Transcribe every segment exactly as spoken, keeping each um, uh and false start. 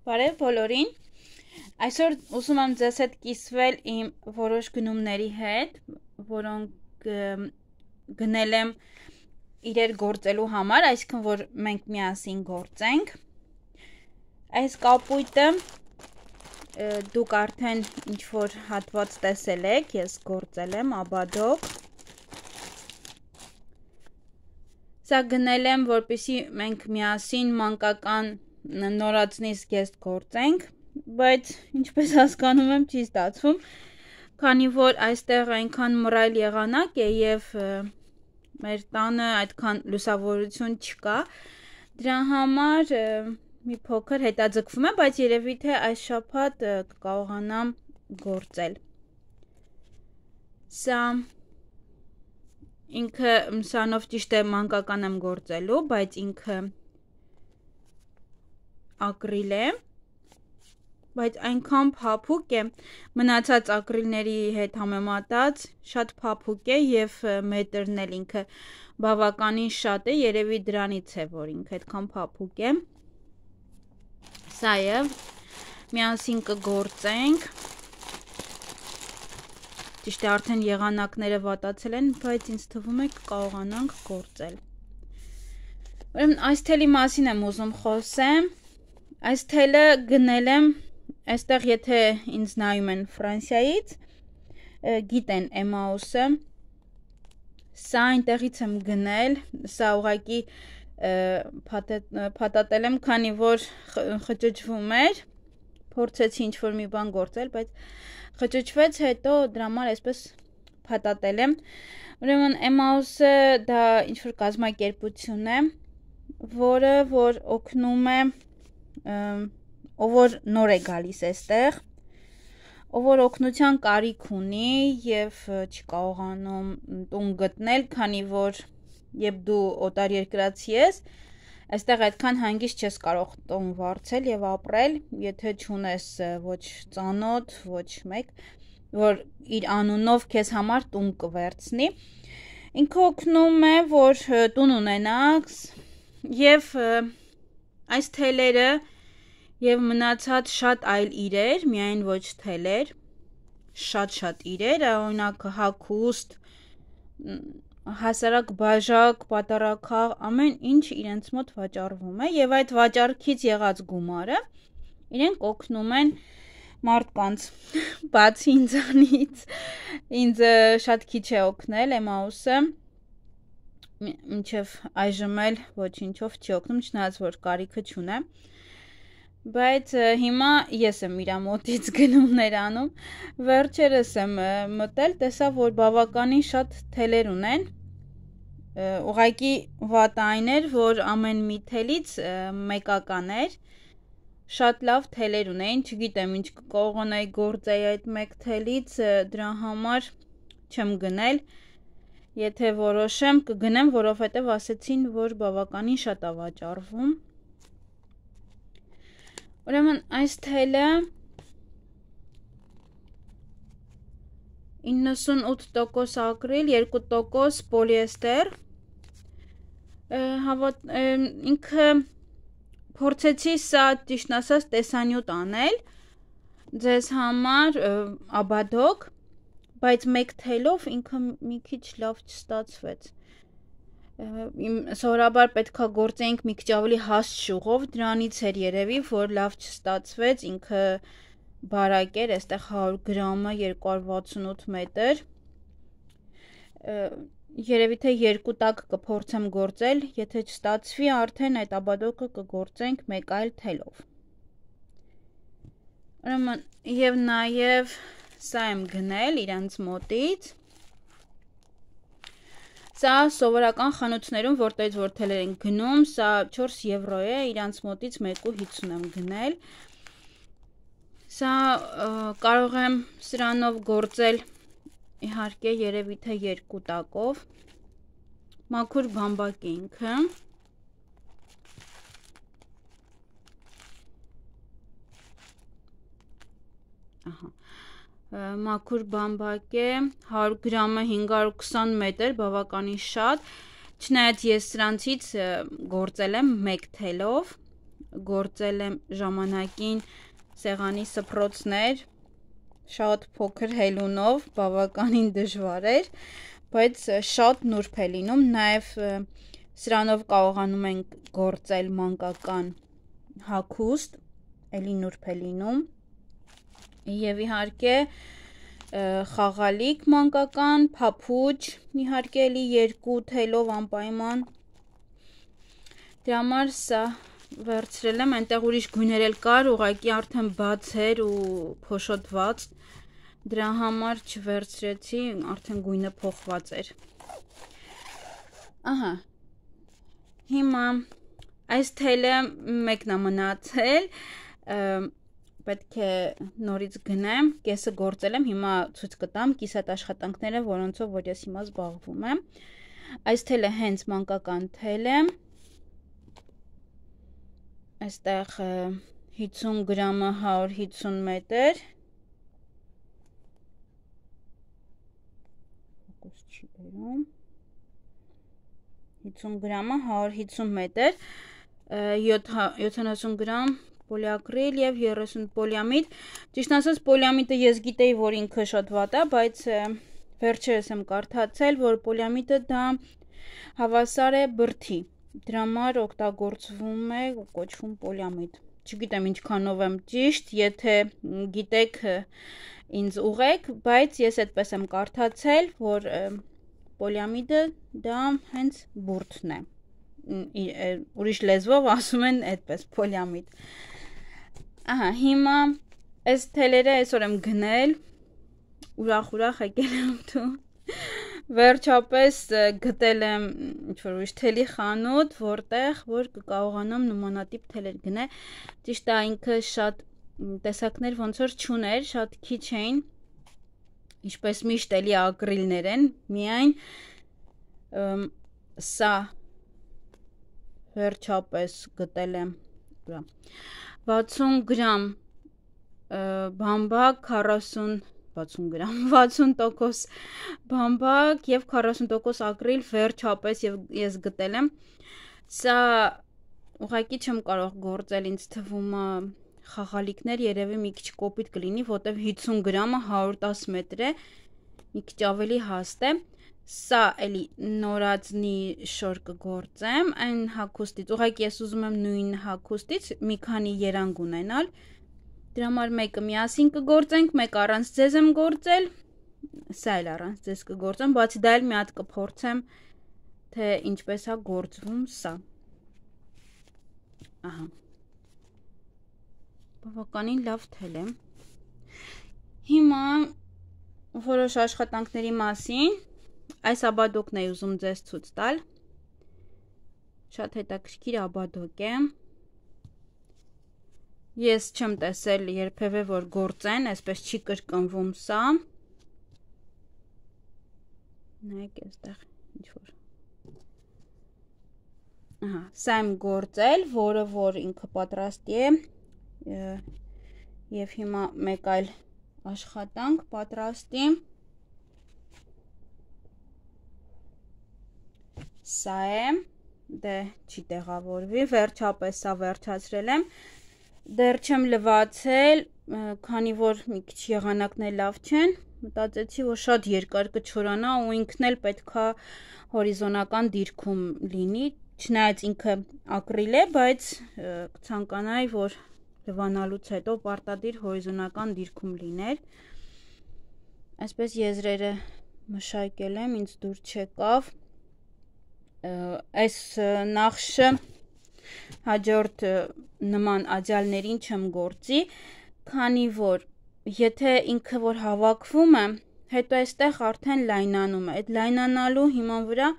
Բարև բոլորին, այսօր ուզում եմ ձեզ հետ կիսվել իմ որոշ գնումների հետ, որոնք գնել եմ իրեր գործելու համար, այսինքն որ մենք միասին գործենք։ Այս կապույտը դուք արդեն ինչ-որ հատված տեսել եք, ես գործել եմ Աբադոկ։ Սա գնել եմ, որպեսզի մենք միասին մանկական նորածնից գեստ գործենք, բայց ինչպես հասկանում եմ չի ստացվում, քանի որ այստեղ այնքան մռայլ եղանակ է եւ մեր տանը այդքան լուսավորություն չկա, դրա համար մի փոքր հետաձգվում է, բայց երևի թե այս շաբաթ կկարողանամ գործել։ Սա ինքը սանով ճիշտ է մանկական եմ գործելու, բայց ինքը ակրիլ է, բայց այնքան փափուկ է, մնացած ակրիլների հետ համեմատած շատ փափուկ է եւ մետրն էլ ինքը բավականին շատ է, երևի դրանից է, որ ինքը այդքան փափուկ է։ Սա է, միասին կգործենք։ Ճիշտ է, արդեն եղանակները վատացել են, բայց ինձ թվում է կկարողանանք գործել։ Ուրեմն այս թելի մասին եմ ուզում խոսեմ։ Այս թելը գնել եմ, այստեղ եթե ինձ նայում են Ֆրանսիայից, գիտեն Էմաուսը, սա այնտեղից եմ գնել, սա ուղղակի փաթաթել եմ, քանի որ խճճվում էր, փորձեցի ինչ-որ մի բան գործել, բայց խճճվեց, հետո դրա համար այսպես փաթաթել եմ։ Ուրեմն Էմաուսը դա ինչ-որ կազմակերպություն է, որը որ օգնում է ով որ նոր է գալիս այստեղ, ով որ օգնության կարիք ունի եւ չի կարողանում տուն գտնել, քանի որ երբ դու օտարերկրացի ես, այստեղ այդքան հանգիստ չես կարող տուն վարձել եւ ապրել, եթե չունես ոչ ծանոթ, ոչ մեկ, որ իր անունով քեզ համար տուն կվերցնի։ Ինքը օգնում է, որ տուն ունենաս եւ այս թելերը եւ մնացած շատ այլ իրեր, միայն ոչ թելեր, շատ-շատ իրեր, օրինակ հագուստ, հասարակ բաժակ, պատառաքաղ, ամեն ինչ իրենց մոտ վաճառվում է եւ այդ վաճառքից եղած գումարը իրենք օգնում են մարդկանց, բացի ինձանից, ինձ շատ քիչ է օգնել Էմաուսը, մինչև այժմ էլ ոչինչով չի օգնում, չնայած որ կարիքը չունեմ, բայց հիմա ես եմ իրա մոտից գնումներ անում, վերջերս եմ մտել, տեսա, որ բավականին շատ թելեր ունեն, ուղղակի վատ այն էր, որ ամեն մի թելից մեկական էր, շատ լավ թելեր ունեին, չգիտեմ ինչ կկարողանայի գործեի այդ մեկ թելից, դրա համար չեմ գնել, եթե որոշեմ կգնեմ, որովհետև ասեցին, որ բավականին շատ է վաճառվում։ Ուրեմն այս թելը իննսունութ տոկոս ակրիլ, երկու տոկոս պոլիեստեր, ինքը փորձեցի սա ճիշտն ասած տեսանյութ անել ձեզ համար Աբադոկ, բայց մեկ թելով ինքը մի քիչ լավ չստացվեց։ Սովորաբար պետքա գործեինք մի քիչ ավելի հաստ շուղով, դրանից էր երևի, որ լավ չստացվեց, ինքը բարակ էր, այստեղ հարյուր գրամը երկու հարյուր վաթսունութ մետր, երևի թե երկու տակ կփորձեմ գործել, եթե չստացվի, արդեն այդ Աբադոկը կգործենք մեկ այլ թելով։ Ուրեմն եւ նաեւ սա եմ գնել իրանց մոտից։ Սա սովորական խանութներում, որտեղից որ թելեր են գնում, սա չորս եվրո է, իրանց մոտից մեկու հիսուն եմ գնել։ Սա կարող եմ սրանով գործել, իհարկե երևի թե երկու տակով, մաքուր բամբակ է ինքը։ Ահա։ Մաքուր բամբակ է, հարյուր գրամը հինգ հարյուր քսան մետր, բավականին շատ, չնայած ես սրանցից գործել եմ մեկ թելով, գործել եմ ժամանակին սեղանի սփռոցներ, շատ փոքր հելունով, բավականին դժվար էր, բայց շատ նուրբ է լինում, նաև սրանով կարողանում ենք գործել մանկական հագուստ, էլի նուրբ է լինում, եւ իհարկե խաղալիք մանկական, փափուչ, իհարկե էլի երկու թելով անպայման, դրա համար սա վերցրել եմ, այնտեղ ուրիշ գույներ էլ կար, ուղղակի արդեն բաց էր ու փոշոտված, դրա համար չվերցրեցի, արդեն գույնը փոխված էր։ Ահա, հիմա այս թելը մեկն է մնացել, պետք է նորից գնեմ, կեսը գործել եմ, հիմա ցույց կտամ կիսատ աշխատանքները, որոնցով որ ես հիմա զբաղվում եմ։ Այս թելը հենց մանկական թել է, այստեղ հիսուն գրամը հարյուր հիսուն մետր, հիսուն գրամը հարյուր հիսուն մետր, յոթանասուն գրամ պոլիակրիլ և երեսուն պոլիամիդ, ճիշտ ասած պոլիամիդը ես գիտեի, որ ինքը շատ վատ է, բայց վերջերս եմ կարդացել, որ պոլիամիդը դա հավասար է բրդի, դրա համար օգտագործվում է ու կոչվում պոլիամիդ, չգիտեմ ինչքանով եմ ճիշտ, եթե գիտեք ինձ ուղեք, բայց ես այդպես եմ կարդացել, որ պոլիամիդը դա հենց բուրդն է, ուրիշ լեզվով ասում են այդպես պոլիամիդ։ Ահա, հիմա այս թելերը այսօր եմ գնել, ուրախ-ուրախ եկել եմ դու, վերջապես գտել եմ ինչ-որ ուրիշ թելի խանութ, որտեղ, որ կկարողանամ նմանատիպ թելեր գնել, ճիշտ է ինքը շատ տեսակներ ոնց որ չուներ, շատ քիչ էին, ինչպես միշտ էլի ակրիլներ են, միայն սա վերջապես գտել եմ վաթսուն գրամ բամբակ, քառասուն վաթսուն գրամ, վաթսուն տոկոս բամբակ և քառասուն տոկոս ակրիլ վերջապես ես գտել եմ, սա ուղղակի չեմ կարող գործել, ինձ թվում է խաղալիքներ երևի մի քիչ կոպիտ կլինի, որտև հիսուն գրամը հարյուր տասը մետր է, մի քիչ ավելի հաստ է, սա էլի նորածնի շոր կգործեմ, այն հագուստից, ուղղակի ես ուզում եմ նույն հագուստից մի քանի երանգ ունենալ, դրա համար մեկը միասին կգործենք, մեկ առանց ձեզ եմ գործել, սա էլ առանց ձեզ կգործեմ, բացի դա էլ մի հատ կփորձեմ, թե ինչպես է գործվում սա։ Ահա։ Բավականին լավ թել է։ Հիմա որոշ աշխատանքների մասին, այս աբադոկն է ուզում ձեզ ցույց տալ, շատ հետաքրքիր աբադոկ է, ես չեմ տեսել երբևէ որ գործեն, այսպես չի կրկնվում սա, նայեք այստեղ ինչ-որ, ահա, սա եմ գործել, որը որ ինքը պատրաստի է, և հիմա մեկ այլ աշխատանք պատրաստի, սա է, դե չի տեղավորվի, վերջապես սա վերջացրել եմ, դեռ չեմ լվացել, քանի որ մի քիչ եղանակներ լավ չեն, մտածեցի, որ շատ երկար կչորանա ու ինքն էլ պետքա հորիզոնական դիրքում լինի, չնայած ինքը ակրիլ է, բայց կցանկանայի, որ լվանալուց հետո պարտադիր հորիզոնական դիրքում լիներ, այսպես եզրերը մշակել եմ, ինձ դուր չեկավ, այս նախշը հաջորդ նման աջալներին չեմ գործի, քանի որ եթե ինքը որ հավաքվում է, հետո այստեղ արդեն լայնանում է, այդ լայնանալու հիման վրա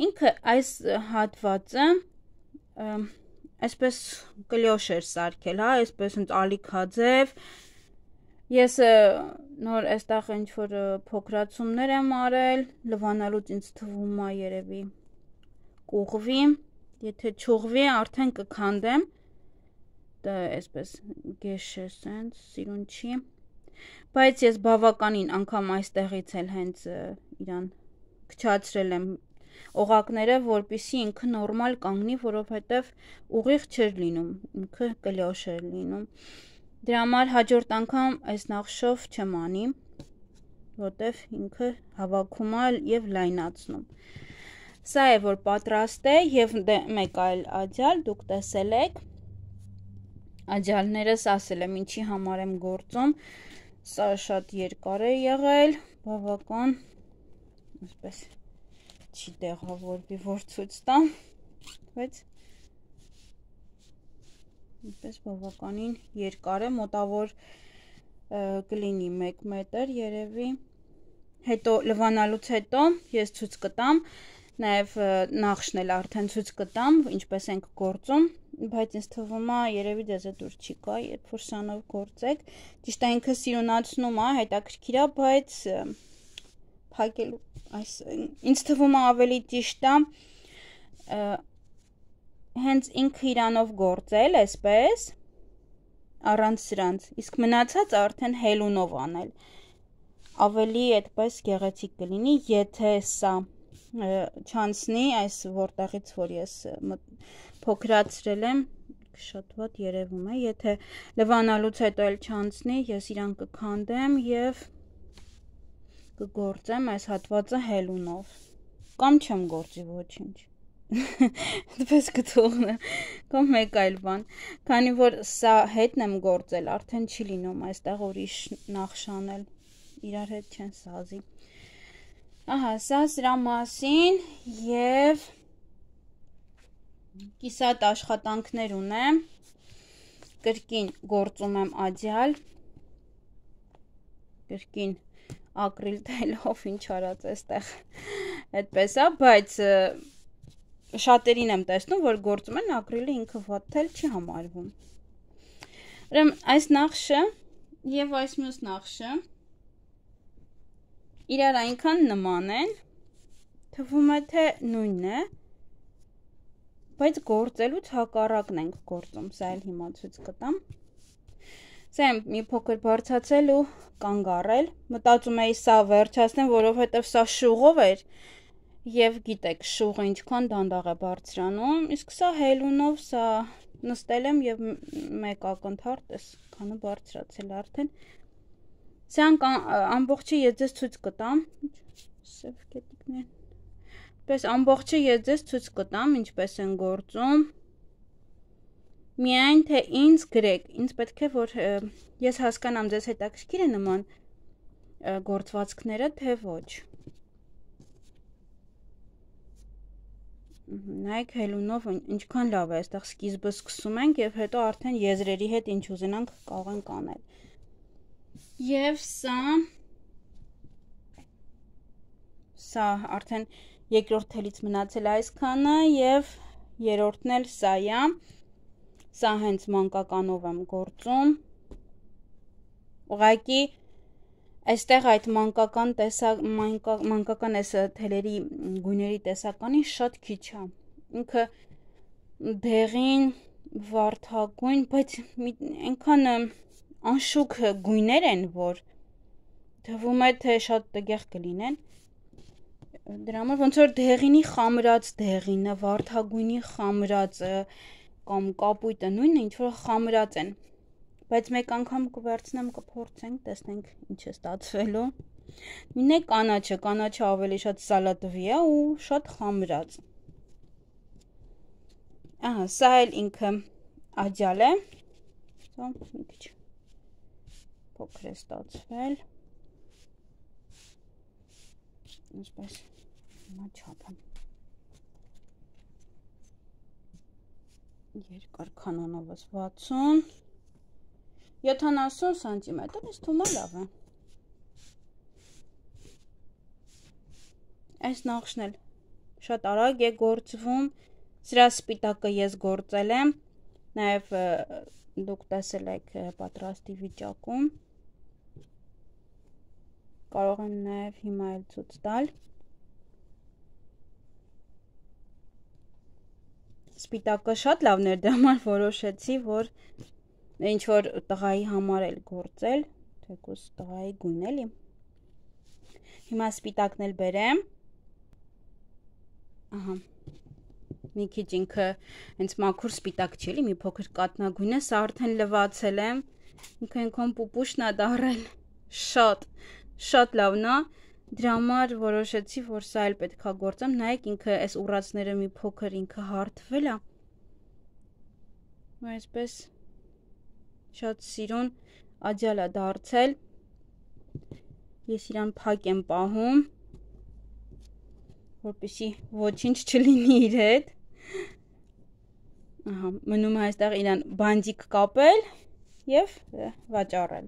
ինքը այս հատվածը այսպես կլյոշ էր սարքել, հա, այսպես ընդ ալիքաձև, ես նոր այստեղ ինչ-որ փոքրացումներ եմ արել, լվանալուց ինձ թվում է երևի կուղվի, եթե չուղվի արդեն կքանդեմ, դա այսպես գեշ է սենց, սիրուն չի, բայց ես բավականին անգամ այստեղից էլ հենց իրան կչացրել եմ օղակները, որպեսզի ինքը նորմալ կանգնի, որովհետև ուղիղ չէր լինում, ինքը կլյոշ էր լինում։ Դրա համար հաջորդ անգամ այս նախշով չեմ անի, որտև ինքը հավաքում է եւ լայնացնում։ Սա է որ պատրաստ է եւ մեկ այլ աջալ դուք տեսել եք։ Աջալներս ասել եմ ինչի համար եմ գործում։ Սա շատ երկար է եղել, բավական, այսպես չի տեղավորվի, որ ցույց տամ, բայց այսպես բավականին երկար է, մոտավոր կլինի մեկ մետր երևի։ Հետո լվանալուց հետո ես ցույց կտամ, նաև նախշն էլ արդեն ցույց կտամ, ինչպես ենք գործում, բայց ինձ թվում է երևի դեզ է դուր չի գա, երբ որ սանով գործեք, ճիշտ է ինքը սիրունացնում է, հետաքրքիր է, բայց փակելու այս ինձ թվում է ավելի ճիշտ է հենց ինքը իրանով գործել, այսպես առանց սրանց, իսկ մնացած արդեն հելունով անել, ավելի այդպես գեղեցիկ կլինի, եթե սա չանցնի, այս որտեղից որ ես փոքրացրել եմ, շատ վատ երևում է, եթե լվանալուց հետո էլ չանցնի, ես իրան կքանդեմ եւ կգործեմ այս հատվածը հելունով, կամ չեմ գործի ոչինչ, դպես կթողնեմ, կամ մեկ այլ բան, քանի որ սա հետն եմ գործել, արդեն չի լինում այստեղ ուրիշ նախշանել, իրար հետ չեն սազի, ահա, սա սրա մասին եւ կիսատ աշխատանքներ ունեմ, կրկին գործում եմ աջալ, կրկին ակրիլ թելով, ինչ արած էստեղ, այդպես է, բայց շատերին եմ տեսնում, որ գործում են ակրիլը ինքը վատ թել չի համարվում, ուրեմն այս նախշը եւ այս մյուս նախշը իրար այնքան նման են, թվում է թե նույնն է, բայց գործելուց հակառակն ենք գործում, սա էլ հիմա ցույց կտամ, սա եմ մի փոքր բարձացել ու կանգ առել, մտածում էի սա վերջացնեմ, որովհետև սա շուղով էր եւ գիտեք շուղը ինչքան դանդաղ է բարձրանում, իսկ սա հելունով սա նստել եմ եւ մեկ ակնթարթ էս քանը բարձրացել արդեն Սան ամբողջը ես ձեզ ցույց կտամ, սև կետիկներ, պես ամբողջը ես ձեզ ցույց կտամ, ինչպես են գործում, միայն թե ինձ գրեք, ինձ պետք է, որ ես հասկանամ ձեզ հետաքրքիր է նման գործվածքները, թե ոչ, նայեք հելունով ինչքան լավ է, այստեղ սկիզբը սկսում ենք և հետո արդեն եզրերի հետ ինչ ուզենանք կարող ենք անել, Եվ սա, սա արդեն երկրորդ թելից մնացել այսքանը և երորդն էլ սա է, սա հենց մանկականով եմ գործում, ուղղակի այստեղ այդ մանկական տեսակ, մանկական այս թելերի գույների տեսականին շատ քիչ է, ինքը դեղին, վարդագույն, բայց այնքան անշուք գույներ են, որ թվում է, թե շատ տգեղ կլինեն, դրա համար ոնց որ դեղինի խամրած դեղինը, վարդագույնի խամրածը կամ կապույտը նույնը ինչ որ խամրած են, բայց մեկ անգամ կվերցնեմ կփորձենք, տեսնենք ինչ է ստացվելու, նույնն է կանաչը, կանաչը ավելի շատ սալատվի է ու շատ խամրած, ահա, սա էլ ինքը աջալ է, սա մի քիչ փոքր է ստացվել, ինչպես հիմա չափեմ, երկար կանոնովս վաթսուն, յոթանասուն սանտիմետր, ես թվում է լավ է, այս նախշն էլ շատ արագ է գործվում, սրա սպիտակը ես գործել եմ, նաև դուք տեսել եք պատրաստի վիճակում, կարող եմ նաև հիմա էլ ցույց տալ, սպիտակը շատ լավն էր, դրա համար որոշեցի, որ ինչ որ տղայի համար էլ գործել, թեկուզ տղայի գույն էլի, հիմա սպիտակն էլ բերեմ, ահա մի քիչ ինքը հենց մաքուր սպիտակ չի էլի, մի փոքր կատնագույն է, սա արդեն լվացել եմ, ինքը այնքան պուպուշն է դառել, շատ, շատ լավն է, դրա համար որոշեցի, որ սա էլ պետք է գործեմ, նայեք ինքը այս ուռածները մի փոքր ինքը հարթվել է, այսպես շատ սիրուն աջալ է դարձել, ես իրան փակ եմ պահում, որպեսզի ոչինչ չլինի իր հետ, ահա, մնում է այստեղ իրան բանդիկ կապել և վաճառել,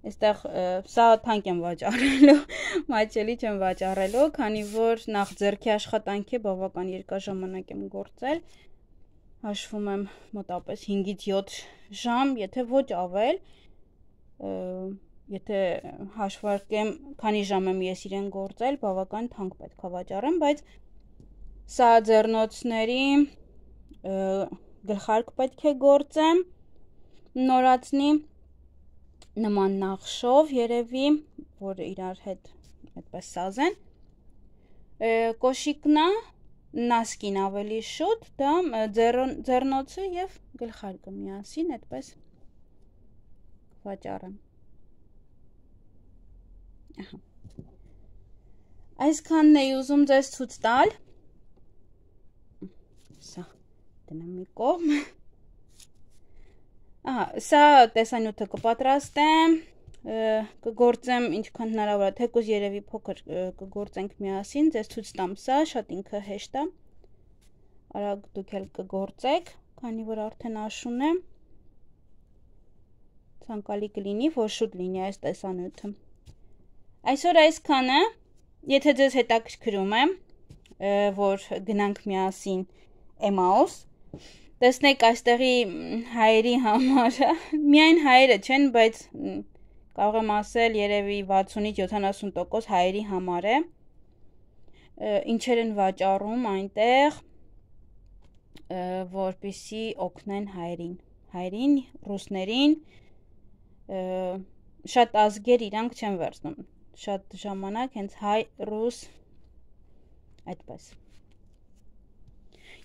այստեղ սա թանկ եմ վաճառելու, մատչելի չեմ վաճառելու, քանի որ նախ ձեռքի աշխատանք է, բավական երկար ժամանակ եմ գործել, հաշվում եմ մոտապես հինգից յոթ ժամ, եթե ոչ ավել, եթե հաշվարկեմ, քանի ժամ եմ ես իրեն գործել, բավական թանկ պետք է վաճառեմ, բայց սա ձեռնոցների գլխարկ պետք է գործեմ, նորացնի նման նախշով երևի, որ իրար հետ այդպես սազեն, կոշիկնա, նասկին ավելի շուտ, դա ձեռնոցը և գլխարկը միասին այդպես վաճառեմ, այսքանն էի ուզում ձեզ ցույց տալ, սա դնեմ մի կողմ, ահա, սա տեսանյութը կպատրաստեմ, կգործեմ ինչքան հնարավոր է, թեկուզ երևի փոքր կգործենք միասին, ձեզ ցույց տամ սա, շատ ինքը հեշտ է, արագ դուք էլ կգործեք, քանի որ արդեն աշուն է, ցանկալի կլինի, որ շուտ լինի այս տեսանյութը, այսօր այսքանը, եթե ձեզ հետաքրքրում է, որ գնանք միասին Էմաուս, տեսնեք այստեղի հայերի համարը, միայն հայերը չեն, բայց կարող եմ ասել երևի վաթսունից յոթանասուն տոկոս հայերի համար է, ինչեր են վաճառում այնտեղ, որպեսզի օգնեն հայերին, հայերին, ռուսներին, շատ ազգեր իրանք չեն վերցնում, շատ ժամանակ հենց հայ, ռուս, այդպես,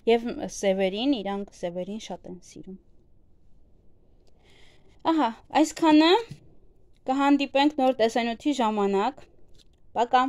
և սևերին, իրանք սևերին շատ են սիրում, ահա, այսքանը, կհանդիպենք նոր տեսանյութի ժամանակ, պակա։